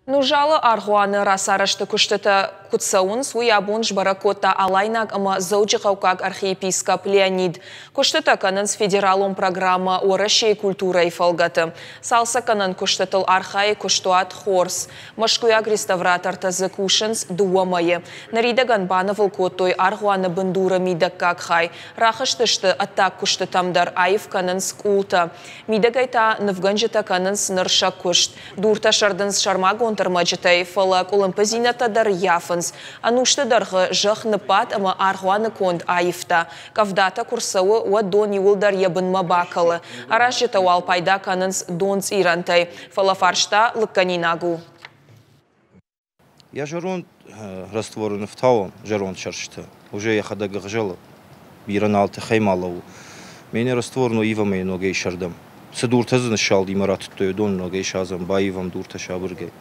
Нузалы аргъуаны рацарӕзты куыстытӕ куыд цӕуынц, уый абон сбӕрӕг кодта Алайнаг ӕмӕ Дзӕуджыхъӕуккаг архиепископ Леонид. Куыстытӕ кӕнынц федералон программӕ Уӕрӕсейы культурӕйы фӕлгӕты. Цалцӕггӕнӕн куыстытыл архайы куыстуат Хорс. Мӕскуыйаг реставратортӕ дзы кусынц дыууӕ мӕйы. Ныридӕгӕн банывыл кодтой аргъуаны бындуры мидӕггаг хай. Рахызтысты ӕддаг куыстытӕм дӕр, аив кӕнынц къултӕ. Мидӕгӕй та нывгӕнджытӕ кӕнынц ныр сӕ куыст. Дуртӕ сӕрдынц сӕрмагонд ӕрмӕджытӕй, фӕлӕ къуылымпыдзинӕдтӕ дӕр ййафынц. Ӕнусты дӕргъы зӕхх ныббадт ӕмӕ аргъуаны конд аивта. Къӕвдатӕ куы рцӕуы, уӕд дон иууылдӕр йӕ бынмӕ бакӕлы. Аразджытӕ уал пайда кӕнынц донцъирӕнтӕй, фӕлӕ фарста лыггӕнинаг у. Йӕ зӕронд растворы ныфтауы зӕронд сӕрстытӕ. Уже йӕхӕдӕг ӕгъзӕлы. Бирӕ нал тыхӕй ма лӕууы. Мене раствор но ивӕм ӕй ногӕй сӕрдӕм. Цы дуртӕ дзы ныссалди мӕ ратыдтой, уыдон ногӕй садзӕм, баивӕм дуртӕ сабыргай.